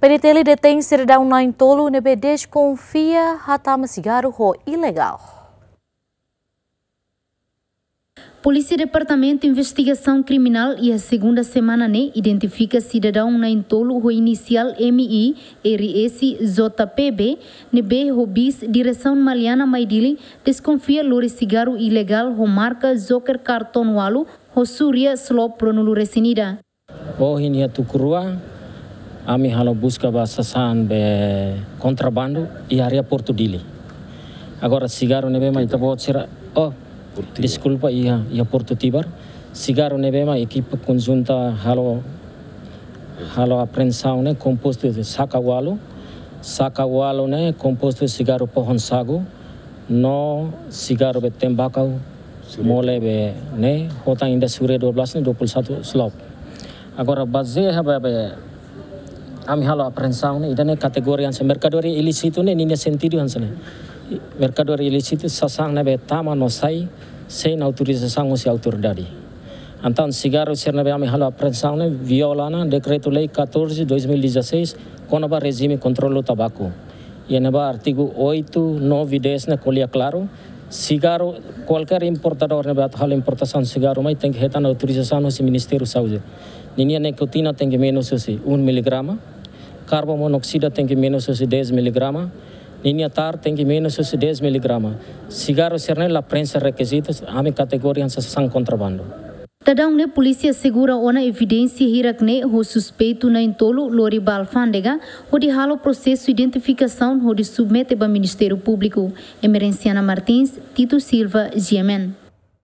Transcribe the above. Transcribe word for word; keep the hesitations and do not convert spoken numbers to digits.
P D T L detein sidadaun na'in-tolu ne'ebé deskonfia hatama sigarru ho ilegál. Polísia Departamentu Investigasaun Kriminál iha segunda semana ne'e identifika sidadaun na'in-tolu ho inisiál M I R S J P B ne'ebé ho bis diresaun Maliana mai Dili deskonfia lori sigarru ilegál ho marka Joker karton ualu ho Surya Slope ruanulu-resin-ida. Ohin iha tuku rua, ami halo buska ba sasán be kontrabandu iha área Portu Dili. Agora sigarru ne'ebé mak ita-boot sira, oh, Portu Tibar. Deskulpa, iha, iha Portu Tibar. Sigarru ne'ebé mak ekipa konjunta halo, halo apreensaun ne'e kompostu de saka ualu. Saka ualu ne'e kompostu sigarru pohon sagu no sigarru be tembakau. Sureto. Mole be ne'e, ho tan ida Surya dua belas ne'e dua puluh satu Slope. Agora bazeia ba be ami halo apreensaun ne'e, ida-ne'e kategoria hanesan merkadoria ilísitu ne'e, ninia sentidu hanesan ne'e. Merkadoria ilísitu sasán ne'ebé tama no sai sein autorizasaun husi autoridade. Entaun sigarru sira ne'ebé ami halo apreensaun ne'e viola ona Dekretu-Lei catorze dois mil e dezasseis kona-ba rejime kontrolu tabaku. Iha ne'ebá artigu oito, nove, dez ne'e ko'alia klaru, sigarru, kualkér importadór ne'ebé atu halo importasaun sigarru mai tenke hetan autorizasaun husi Ministériu Saúde. Ninia nikotina tenke menus husi um miligrama, karbon monoksida tenke menus husi dez miligrama, ninia tar tenke menus husi dez miligrama. Sigarru sira-ne'e la preenxe rekizitus, ami kategoria hanesan sasán kontrabandu. Daudaun ne'e polísia asegura ona evidénsia hirak-ne'e ho suspeitu na'in-tolu lori ba alfándega hodi halo prosesu identifikasaun hodi submete ba Ministériu Públiku. Emerenciana Martins, Tito Silva, G M N.